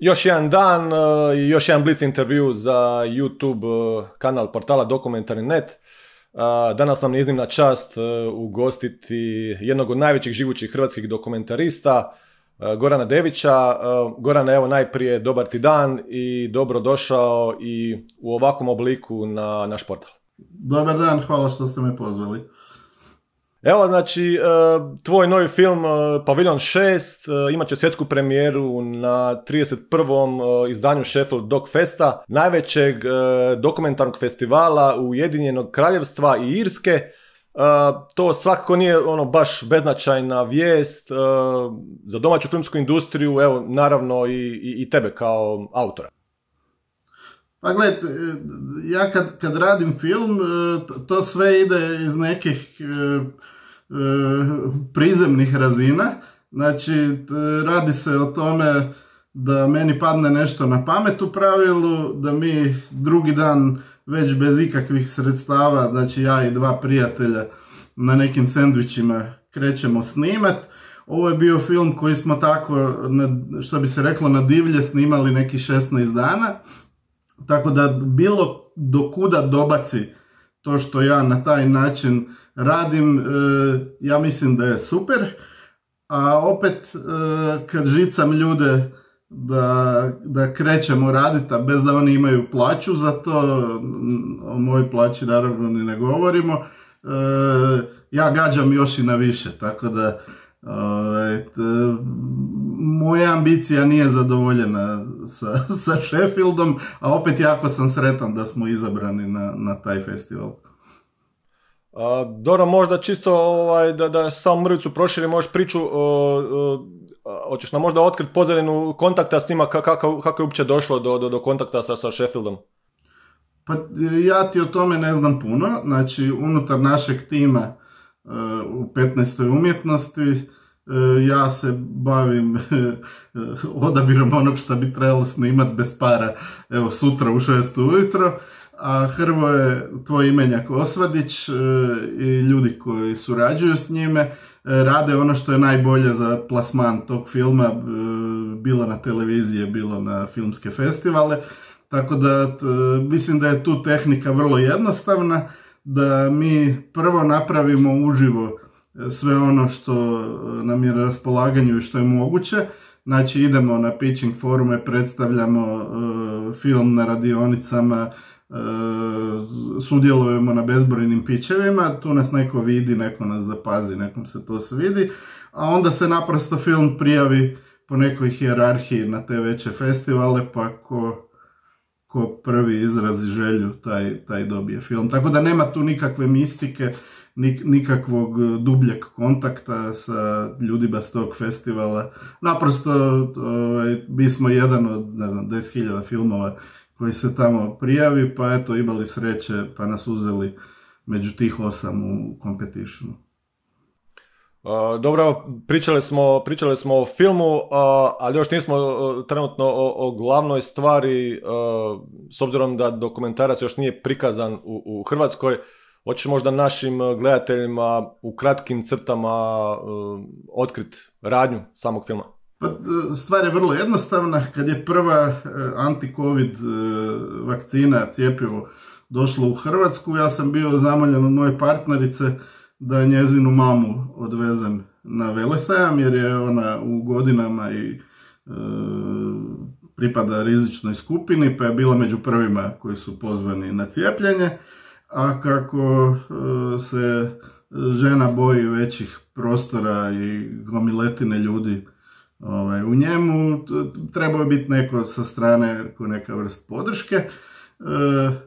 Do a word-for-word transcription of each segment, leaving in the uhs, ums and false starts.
Još jedan dan i još jedan Blitz intervju za YouTube kanal portala Dokumentarni punkt net. Danas nam je iznimna čast ugostiti jednog od najvećih živućih hrvatskih dokumentarista, Gorana Devića. Gorane, evo najprije dobar ti dan i dobro došao i u ovakvom obliku na naš portal. Dobar dan, hvala što ste me pozvali. Evo, znači, tvoj novi film Paviljon šest imat će svjetsku premijeru na trideset prvom izdanju Sheffield Dog Festa, najvećeg dokumentarnog festivala Ujedinjenog Kraljevstva i Irske. To svakako nije ono baš beznačajna vijest za domaću filmsku industriju, evo naravno i, i, i tebe kao autora. Pa gled, ja kad, kad radim film, to sve ide iz nekih prizemnih razina. Znači, radi se o tome da meni padne nešto na pamet u pravilu, da mi drugi dan već bez ikakvih sredstava, znači ja i dva prijatelja na nekim sendvičima krećemo snimat. Ovo je bio film koji smo tako, što bi se reklo, na divlje snimali neki šesnaest dana. Tako da bilo do kuda dobaci to što ja na taj način radim, ja mislim da je super. A opet kad žicam ljude da, da krećemo raditi, a bez da oni imaju plaću za to, o mojoj plaći naravno ni ne govorimo, ja gađam još i na više, tako da moja ambicija nije zadovoljena sa, sa Sheffieldom, a opet jako sam sretan da smo izabrani na, na taj festival. A, dobro, možda čisto ovaj, da, da samo mrvicu proširi, možeš priču, o, o, hoćeš nam možda otkriti pozadinu kontakta s njima, kako, kako je uopće došlo do, do, do kontakta sa, sa Sheffieldom? Pa ja ti o tome ne znam puno, znači unutar našeg tima u petnaestoj umjetnosti ja se bavim odabirom onog što bi trebalo snimat bez para, evo sutra u šest ujutro, a Hrvoje, tvoj imenjak Osvadić i ljudi koji surađuju s njime rade ono što je najbolje za plasman tog filma, bilo na televizije, bilo na filmske festivale, tako da mislim da je tu tehnika vrlo jednostavna, da mi prvo napravimo uživo sve ono što nam je na raspolaganju i što je moguće. Znači idemo na pitching forume, predstavljamo uh, film na radionicama, uh, sudjelujemo na bezbrojnim pitchevima, tu nas neko vidi, neko nas zapazi, nekom se to svidi, a onda se naprosto film prijavi po nekoj hijerarhiji na te veće festivale, pa ko ko prvi izrazi želju, taj, taj dobije film. Tako da nema tu nikakve mistike, nik, nikakvog dubljeg kontakta sa ljudima s tog festivala. Naprosto ovaj, mi smo jedan od, ne znam, deset hiljada filmova koji se tamo prijavi, pa eto, imali sreće, pa nas uzeli među tih osam u competitionu. Uh, dobro, pričali smo, pričali smo o filmu, uh, ali još nismo uh, trenutno o, o glavnoj stvari, uh, s obzirom da dokumentarac još nije prikazan u, u Hrvatskoj. Hoćeš možda našim gledateljima u kratkim crtama uh, otkriti radnju samog filma? Pa, stvar je vrlo jednostavna. Kad je prva uh, anti-covid uh, vakcina, cjepivo, došlo u Hrvatsku, ja sam bio zamoljen od moje partnerice da njezinu mamu odvezem na velesajam, jer je ona u godinama i e, pripada rizičnoj skupini, pa je bila među prvima koji su pozvani na cijepljenje, a kako e, se žena boji većih prostora i gomiletine ljudi ovaj, u njemu, trebao je biti neko sa strane, neka vrst podrške, e,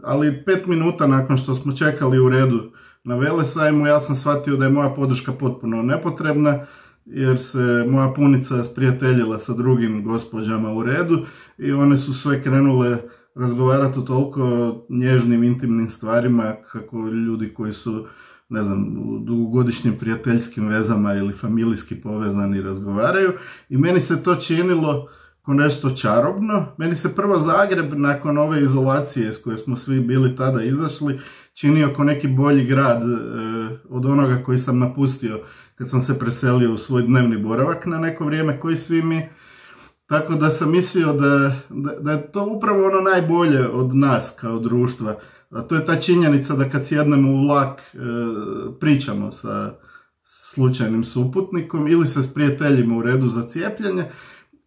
ali pet minuta nakon što smo čekali u redu na velesajmu, ja sam shvatio da je moja podrška potpuno nepotrebna, jer se moja punica sprijateljila sa drugim gospođama u redu i one su sve krenule razgovarati o toliko nježnim, intimnim stvarima kako ljudi koji su, ne znam, u dugogodišnjim prijateljskim vezama ili familijski povezani razgovaraju. I meni se to činilo ko nešto čarobno. Meni se prvo Zagreb nakon ove izolacije s koje smo svi bili tada izašli činio ko neki bolji grad e, od onoga koji sam napustio kad sam se preselio u svoj dnevni boravak na neko vrijeme, koji svi mi. tako da sam mislio da, da, da je to upravo ono najbolje od nas kao društva. A to je ta činjenica da kad sjednemo u vlak e, pričamo sa slučajnim suputnikom ili se s prijateljima u redu za cijepljenje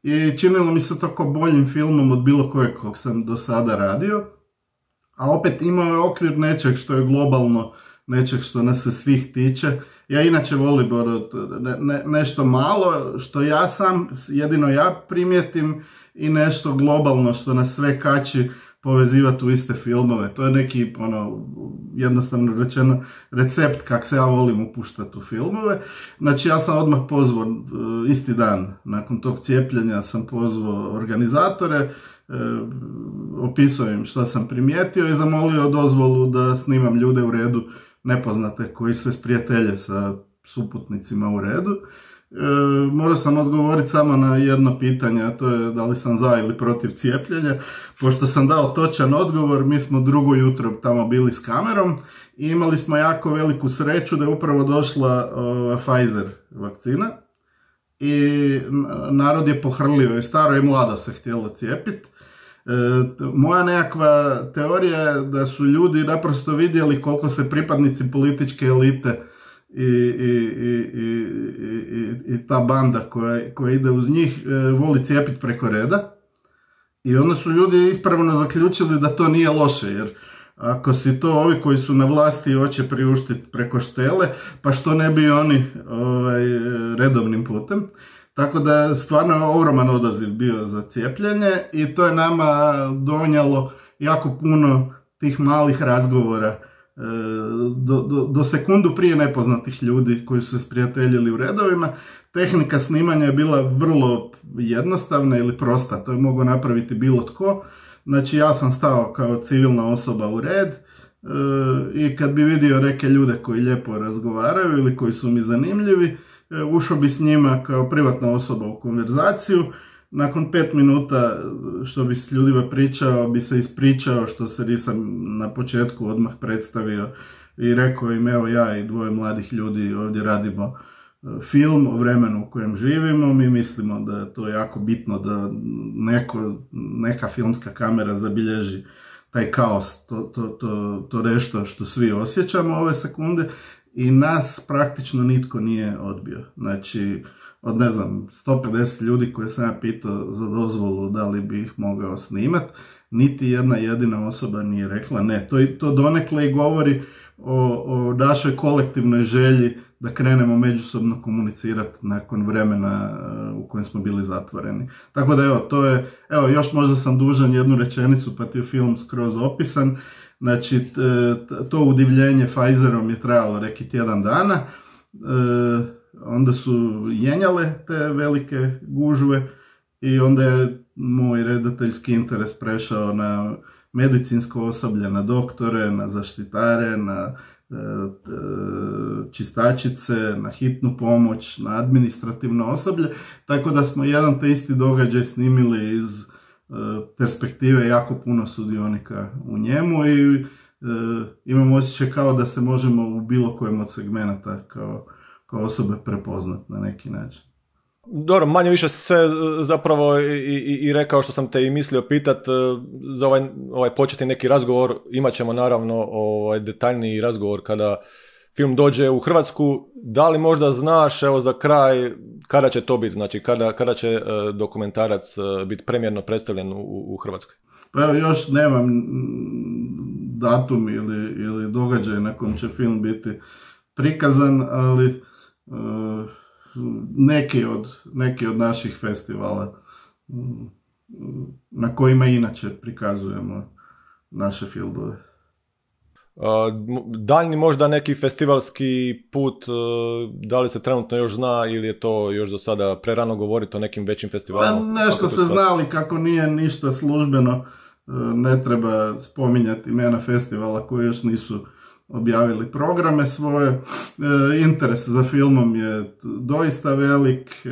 i činilo mi se to kao boljim filmom od bilo kojeg kog sam do sada radio. A opet imao je okvir nečeg što je globalno, nečeg što nas se svih tiče. Ja inače volim ne, ne, nešto malo što ja sam, jedino ja primijetim i nešto globalno što nas sve kači povezivati u iste filmove. To je neki, ono, jednostavno rečeno, recept kak se ja volim upuštati u filmove. Znači ja sam odmah pozvao, isti dan nakon tog cijepljenja sam pozvao organizatore, e, opisao im što sam primijetio i zamolio dozvolu da snimam ljude u redu nepoznate koji se sprijatelje sa suputnicima u redu. E, morao sam odgovoriti samo na jedno pitanje, a to je da li sam za ili protiv cijepljenja. Pošto sam dao točan odgovor, mi smo drugo jutro tamo bili s kamerom i imali smo jako veliku sreću da je upravo došla uh, Pfizer vakcina i narod je pohrlio i staro i mlado se htjelo cijepiti. E, moja nekakva teorija je da su ljudi naprosto vidjeli koliko se pripadnici političke elite i, i, i, i, i, i ta banda koja, koja ide uz njih e, voli cijepiti preko reda i onda su ljudi ispravno zaključili da to nije loše, jer ako si to ovi koji su na vlasti i hoće priuštiti preko štele, pa što ne bi oni ovaj, redovnim putem. Tako da je stvarno ogroman odaziv bio za cijepljenje i to je nama donijelo jako puno tih malih razgovora do, do, do sekundu prije nepoznatih ljudi koji su se sprijateljili u redovima. Tehnika snimanja je bila vrlo jednostavna ili prosta, to je mogao napraviti bilo tko. Znači ja sam stao kao civilna osoba u red e, i kad bi vidio neke ljude koji lijepo razgovaraju ili koji su mi zanimljivi, e, ušao bi s njima kao privatna osoba u konverzaciju. Nakon pet minuta što bi s ljudima pričao, bi se ispričao što se nisam na početku odmah predstavio i rekao im evo ja i dvoje mladih ljudi ovdje radimo film o vremenu u kojem živimo, mi mislimo da je to jako bitno da neko, neka filmska kamera zabilježi taj kaos, to, to, to, to nešto što svi osjećamo ove sekunde i nas praktično nitko nije odbio. Znači, od ne znam, sto pedeset ljudi koje sam ja pitao za dozvolu da li bi ih mogao snimat, niti jedna jedina osoba nije rekla ne. To, to donekle i govori o, o našoj kolektivnoj želji da krenemo međusobno komunicirati nakon vremena u kojem smo bili zatvoreni. Tako da evo, to je, evo, još možda sam dužan jednu rečenicu pa ti je film skroz opisan. Znači, to udivljenje Pfizerom je trajalo neki tjedan dana. Onda su jenjale te velike gužve i onda je moj redateljski interes prešao na medicinsko osoblje, na doktore, na zaštitare, na čistačice, na hitnu pomoć, na administrativno osoblje, tako da smo jedan te isti događaj snimili iz perspektive jako puno sudionika u njemu i imamo osjećaj kao da se možemo u bilo kojem od segmenata kao, kao osobe prepoznat na neki način. Dobro, manje više sve zapravo i, i, i rekao što sam te i mislio pitat za ovaj, ovaj početni neki razgovor. Imat ćemo naravno ovaj detaljniji razgovor kada film dođe u Hrvatsku. Da li možda znaš, evo za kraj, kada će to biti, znači kada, kada će uh, dokumentarac uh, biti premjerno predstavljen u, u Hrvatskoj? Pa evo, još nemam datum ili, ili događaj na kojem će film biti prikazan, ali uh, neki od, neki od naših festivala na kojima inače prikazujemo naše filmove. Daljni možda neki festivalski put, da li se trenutno još zna ili je to još za sada prerano govoriti o nekim većim festivalima? Pa nešto se zna, ali kako nije ništa službeno, ne treba spominjati imena festivala koji još nisu objavili programe svoje. Interes za filmom je doista velik,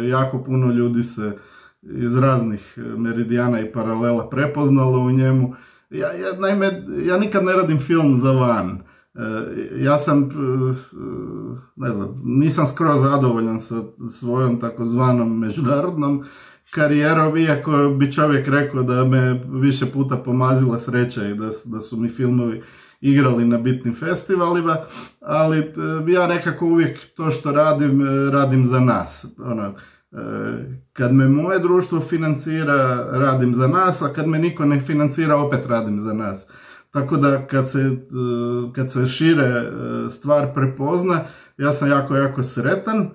jako puno ljudi se iz raznih meridijana i paralela prepoznalo u njemu. Ja, ja, naime, ja nikad ne radim film za van. Ja sam, ne znam, nisam skroz zadovoljan sa svojom takozvanom međunarodnom karijerom, iako bi čovjek rekao da me više puta pomazila sreća i da, da su mi filmovi igrali na bitnim festivalima, ali ja nekako uvijek to što radim, radim za nas. Ono, kad me moje društvo financira, radim za nas, a kad me niko ne financira, opet radim za nas. Tako da kad se, kad se šire stvar prepozna, ja sam jako, jako sretan.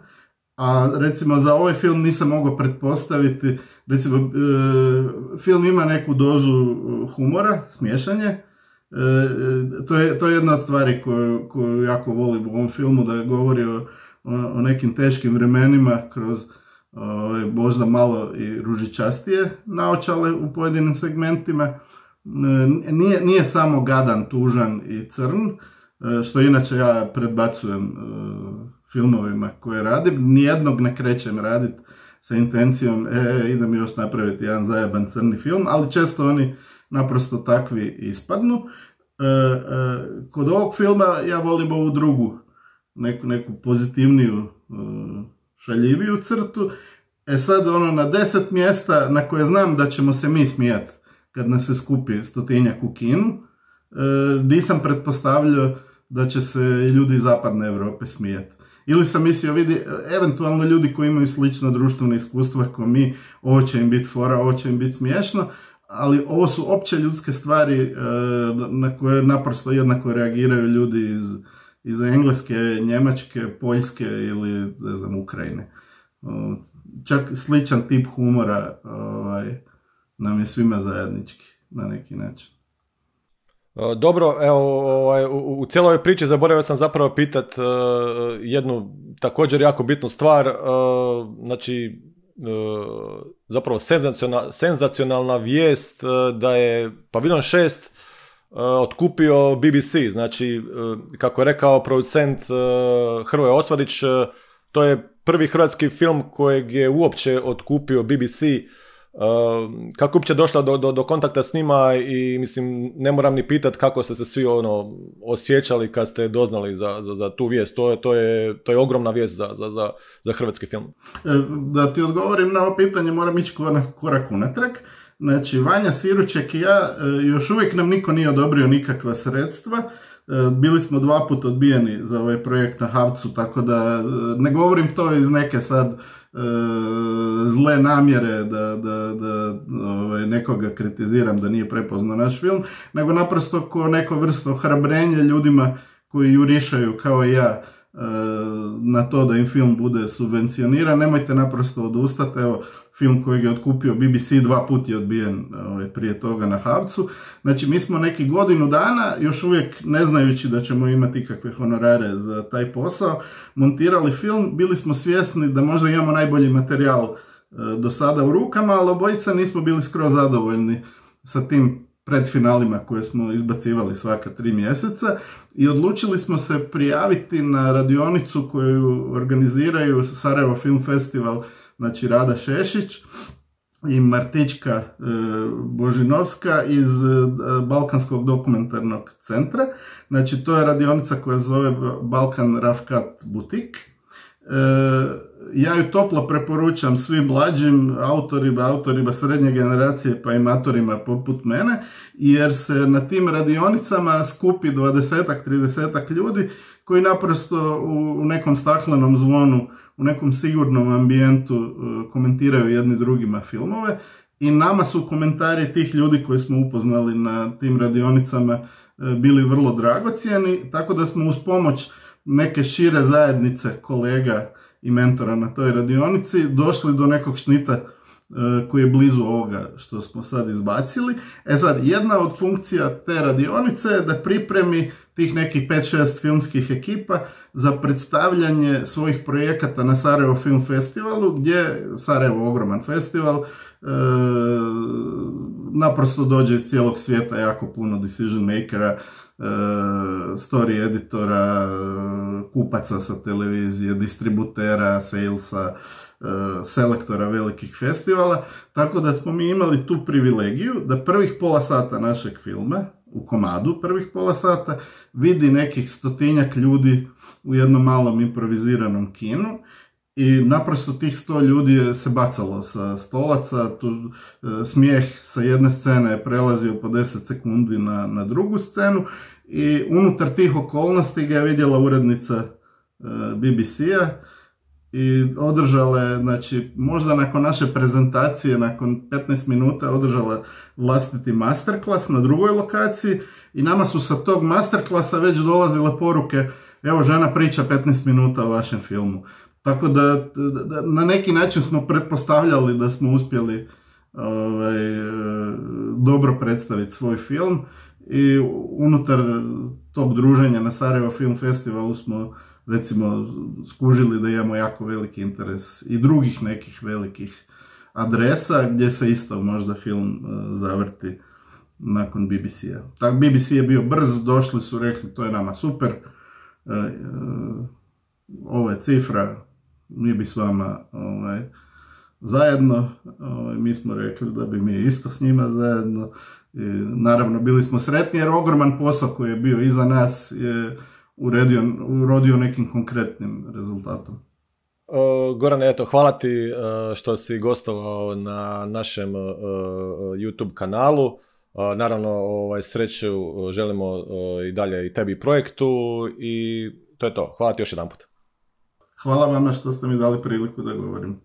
A recimo za ovaj film nisam mogao pretpostaviti, recimo film ima neku dozu humora, smiješanje. To je, to je jedna od stvari koju, koju jako volim u ovom filmu, da govori o, o nekim teškim vremenima kroz o, možda malo i ružičastije naočale u pojedinim segmentima. Nije, nije samo gadan, tužan i crn, što inače ja predbacujem filmovima koje radim. Nijednog ne krećem raditi sa intencijom e, idem još napraviti jedan zajeban crni film, ali često oni naprosto takvi ispadnu. E, e, kod ovog filma ja volim ovu drugu, neku, neku pozitivniju, e, šaljiviju crtu. E sad ono na deset mjesta na koje znam da ćemo se mi smijati kad nas se skupi stotinjak u kinu, e, nisam pretpostavljao da će se ljudi iz zapadne Europe smijati. Ili sam mislio, vidi, eventualno ljudi koji imaju slično društveno iskustvo kao mi, ovo će im biti fora, ovo će im biti smiješno, ali ovo su opće ljudske stvari na koje naprosto jednako reagiraju ljudi iz, iz Engleske, Njemačke, Poljske ili, ne znam, Ukrajine. Čak sličan tip humora ovaj, nam je svima zajednički, na neki način. Dobro, evo, ovaj, u, u cijeloj ovoj priči zaboravio sam zapravo pitat uh, jednu također jako bitnu stvar, uh, znači uh, zapravo senzacionalna, senzacionalna vijest uh, da je Paviljon šest uh, otkupio B B C, znači uh, kako je rekao producent uh, Hrvoje Osvadić, uh, to je prvi hrvatski film kojeg je uopće otkupio B B C. Uh, kako uopće došla do, do, do kontakta s njima i mislim ne moram ni pitati kako ste se svi ono osjećali kad ste doznali za, za, za tu vijest. To je, to je, to je ogromna vijest za, za, za, za hrvatski film. Da ti odgovorim na ovo pitanje moram ići korak unatrag. Znači Vanja Siruček i ja još uvijek nam niko nije odobrio nikakva sredstva. Bili smo dva put odbijeni za ovaj projekt na Havcu, tako da ne govorim to iz neke sad zle namjere da, da, da ovaj, nekoga kritiziram da nije prepoznao naš film, nego naprosto ko neko vrsto ohrabrenje ljudima koji jurišaju kao i ja na to da im film bude subvencioniran. Nemojte naprosto odustati. Evo, film koji je otkupio B B C dva put je odbijen ovaj, prije toga na Havcu. Znači mi smo neki godinu dana, još uvijek ne znajući da ćemo imati ikakve honorare za taj posao, montirali film. Bili smo svjesni da možda imamo najbolji materijal e, do sada u rukama, ali obojica nismo bili skroz zadovoljni sa tim predfinalima koje smo izbacivali svaka tri mjeseca i odlučili smo se prijaviti na radionicu koju organiziraju Sarajevo Film Festival, znači Rada Šešić i Martička e, Božinovska iz e, Balkanskog dokumentarnog centra. Znači to je radionica koja se zove Balkan Rafkat Butik. E, ja ju toplo preporučam svim mlađim autorima, autorima srednje generacije pa i matorima poput mene, jer se na tim radionicama skupi dvadesetak, tridesetak ljudi koji naprosto u, u nekom staklenom zvonu, u nekom sigurnom ambijentu uh, komentiraju jedni drugima filmove i nama su komentari tih ljudi koji smo upoznali na tim radionicama uh, bili vrlo dragocjeni, tako da smo uz pomoć neke šire zajednice kolega i mentora na toj radionici došli do nekog šnita uh, koji je blizu ovoga što smo sad izbacili. E sad, jedna od funkcija te radionice je da pripremi tih nekih pet šest filmskih ekipa za predstavljanje svojih projekata na Sarajevo Film Festivalu, gdje Sarajevo ogroman festival, e, naprosto dođe iz cijelog svijeta jako puno decision makera, e, story editora, kupaca sa televizije, distributera, salesa, e, selektora velikih festivala, tako da smo mi imali tu privilegiju da prvih pola sata našeg filma, u komadu prvih pola sata, vidi nekih stotinjak ljudi u jednom malom improviziranom kinu I naprosto tih sto ljudi je se bacalo sa stolaca, tu e, smijeh sa jedne scene je prelazio po deset sekundi na, na drugu scenu i unutar tih okolnosti ga je vidjela urednica e, B B C-a i održala je, znači, možda nakon naše prezentacije, nakon petnaest minuta održala vlastiti masterclass na drugoj lokaciji i nama su sa tog masterclassa već dolazile poruke, evo žena priča petnaest minuta o vašem filmu. Tako da, da na neki način smo pretpostavljali da smo uspjeli ovaj, dobro predstaviti svoj film i unutar tog druženja na Sarajevo Film Festivalu smo recimo skužili da imamo jako veliki interes i drugih nekih velikih adresa gdje se isto možda film uh, zavrti nakon B B C-a. Tak B B C je bio brz, došli su, rekli to je nama super, uh, uh, ovo je cifra, mi bi s vama ovaj, zajedno, ovaj, mi smo rekli da bi mi isto s njima zajedno. I, naravno bili smo sretni jer ogroman posao koji je bio iza nas je uredio, urodio nekim konkretnim rezultatom. Uh, Goran, eto, hvala ti uh, što si gostovao na našem uh, YouTube kanalu. Uh, naravno, ovaj, sreću želimo uh, i dalje i tebi projektu i to je to. Hvala ti još jedan put. Hvala vama što ste mi dali priliku da govorim.